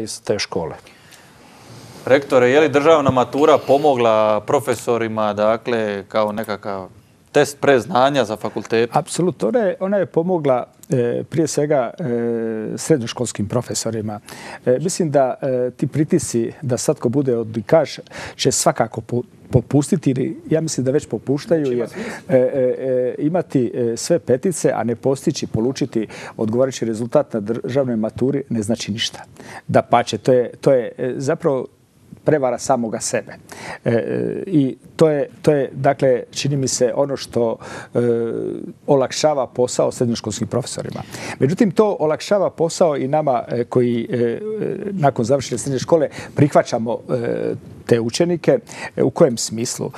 iz te škole. Rektore, je li državna matura pomogla profesorima, dakle, kao nekakav test preznanja za fakultet? Apsolutno. Ona je pomogla prije svega srednjoškolskim profesorima. Mislim da ti pritisci da svatko bude odlikaš će svakako popustiti, ili ja mislim da već popuštaju, jer imati sve petice, a ne postići, polučiti odgovarajući rezultat na državnoj maturi ne znači ništa. Dapače, to je zapravo prevara samoga sebe. I to je, dakle, čini mi se ono što olakšava posao srednjoškolskim profesorima. Međutim, to olakšava posao i nama koji nakon završene srednje škole prihvaćamo te učenike. U kojem smislu?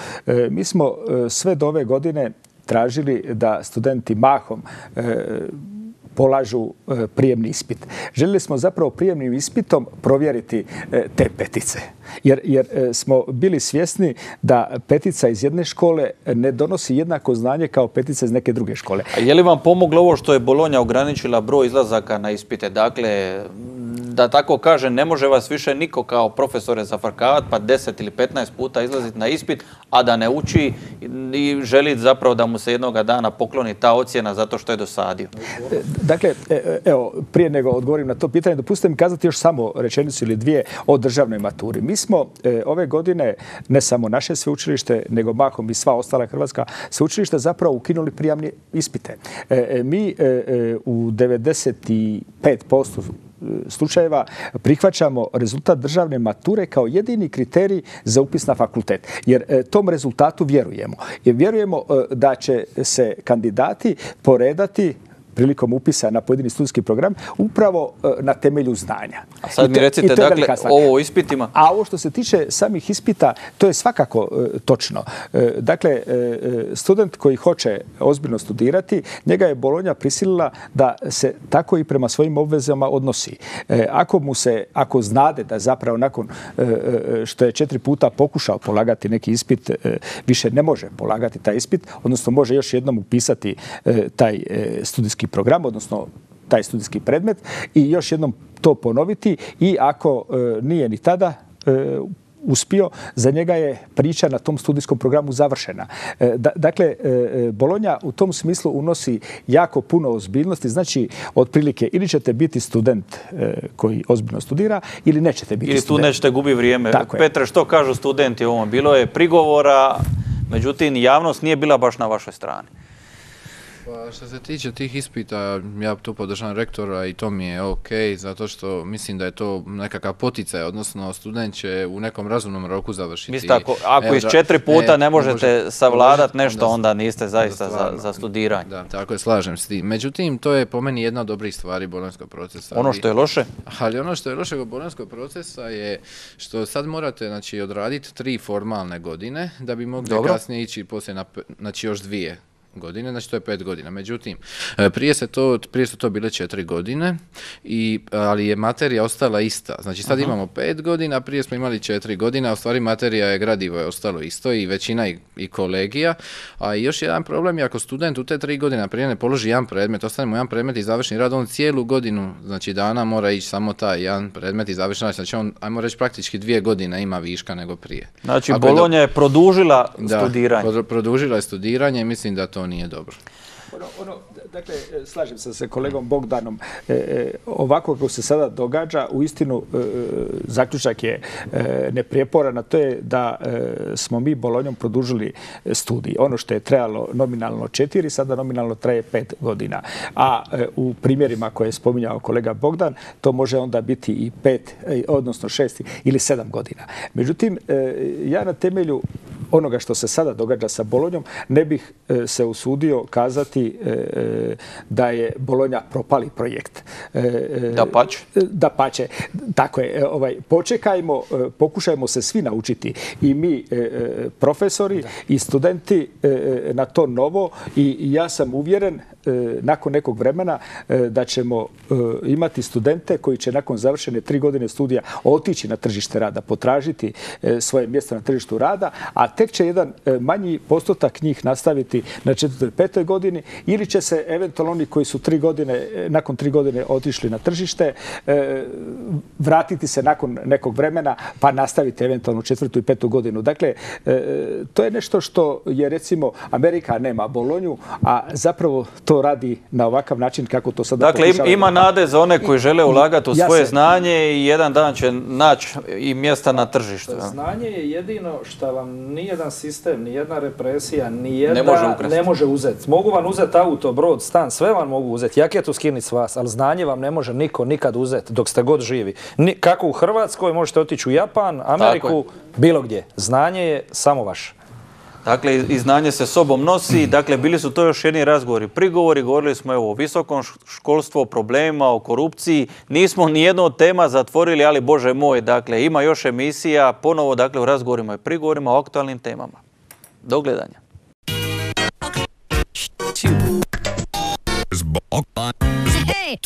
Mi smo sve do ove godine tražili da studenti mahom polažu prijemni ispit. Željeli smo zapravo prijemnim ispitom provjeriti te petice. Jer smo bili svjesni da petica iz jedne škole ne donosi jednako znanje kao petica iz neke druge škole. A je li vam pomoglo ovo što je Bolonja ograničila broj izlazaka na ispite? Dakle, da tako kaže, ne može vas više niko kao profesore zafrkavati pa 10 ili 15 puta izlaziti na ispit, a da ne uči i želi zapravo da mu se jednoga dana pokloni ta ocjena zato što je dosadio. Dakle, evo, prije nego odgovorim na to pitanje, dopustite mi kazati još samo rečenicu ili dvije o državnoj maturi. Mi smo ove godine, ne samo naše sveučilište, nego mahom i sva ostala hrvatska sveučilišta zapravo ukinuli prijamne ispite. Mi u 95% slučajeva prihvaćamo rezultat državne mature kao jedini kriterij za upis na fakultet. Jer tom rezultatu vjerujemo. Jer vjerujemo da će se kandidati poredati prilikom upisa na pojedini studijski program upravo na temelju znanja. A sad mi recite, dakle, ovo o ispitima? A ovo što se tiče samih ispita, to je svakako točno. Dakle, student koji hoće ozbiljno studirati, njega je Bolonja prisilila da se tako i prema svojim obvezama odnosi. Ako znade da zapravo nakon što je 4 puta pokušao polagati neki ispit, više ne može polagati taj ispit, odnosno može još jednom upisati taj studijski program, odnosno taj studijski predmet i još jednom to ponoviti, i ako nije ni tada uspio, za njega je priča na tom studijskom programu završena. Dakle, Bolonja u tom smislu unosi jako puno ozbiljnosti. Znači, otprilike, ili ćete biti student koji ozbiljno studira, ili nećete biti student. Ili tu nećete gubi vrijeme. Petre, što kažu studenti o ovom? Bilo je prigovora, međutim, javnost nije bila baš na vašoj strani. Pa što se tiče tih ispita, ja tu podržavam rektora i to mi je ok, zato što mislim da je to nekakav poticaj, odnosno student će u nekom razumnom roku završiti. Mislite, ako iz 4 puta ne možete savladati nešto, onda niste zaista za studiranje. Da, tako je, slažem s tim. Međutim, to je po meni jedna od dobrih stvari bolonjskog procesa. Ono što je loše? Ali ono što je loše od bolonjskog procesa je što sad morate, znači, odraditi 3 formalne godine da bi mogli kasnije ići poslije na, znači, još 2 godine, znači to je 5 godina. Međutim, prije su to bile 4 godine, ali je materija ostala ista. Znači sad imamo 5 godina, prije smo imali 4 godine, a u stvari materija je, gradivo je ostalo isto i većina i kolegija. A još jedan problem je ako student u te 3 godine prije ne položi jedan predmet, ostane mu jedan predmet i završni rad, on cijelu godinu, znači dana mora ići samo taj jedan predmet i završni rad. Znači on, ajmo reći, praktički 2 godine ima viška nego prije. Znači Bolonja je produžila studiranje. Da, produžila je studiranje i mislim da to nije dobro. Dakle, slažem se sa kolegom Bogdanom. Ovako kako se sada događa, uistinu zaključak je neprijeporan, a to je da smo mi Bolonjom produžili studij. Ono što je trajalo nominalno 4, sada nominalno traje 5 godina. A u primjerima koje je spominjao kolega Bogdan, to može onda biti i 5, odnosno 6 ili 7 godina. Međutim, ja na temelju onoga što se sada događa sa Bolonjom, ne bih se usudio kazati da je Bolonja propali projekt. Dapače. Dapače. Tako je. Počekajmo, pokušajmo se svi naučiti. I mi, profesori i studenti, na to novo. I ja sam uvjeren nakon nekog vremena da ćemo imati studente koji će nakon završene 3 godine studija otići na tržište rada, potražiti svoje mjesto na tržištu rada, a tek će jedan manji postotak njih nastaviti na 4. ili 5. godini, ili će se eventualno oni koji su nakon 3 godine otišli na tržište vratiti se nakon nekog vremena pa nastaviti eventualno 4. i 5. godinu. Dakle, to je nešto što je, recimo, Amerika nema Bolonju, a zapravo to radi na ovakav način kako to sada pokušava. Dakle, ima nade za one koji žele ulagati u svoje znanje i jedan dan će naći i mjesta na tržištu. Znanje je jedino što vam nijedan sistem, nijedna represija, nijedna ne može uzeti. Mogu vam uzeti auto, brod, stan, sve vam mogu uzeti. Jaketu skinuti s vas, ali znanje vam ne može niko nikad uzeti dok ste god živi. Kako u Hrvatskoj možete otići u Japan, Ameriku, bilo gdje. Znanje je samo vaše. Dakle, i znanje se sobom nosi. Dakle, bili su to još jedni razgovori, prigovori. Govorili smo o visokom školstvu, o problemima, o korupciji. Nismo ni jednu od tema zatvorili, ali Bože moj, dakle, ima još emisija ponovo, dakle, u razgovorima i prigovorima o aktualnim temama. Do gledanja. Hey.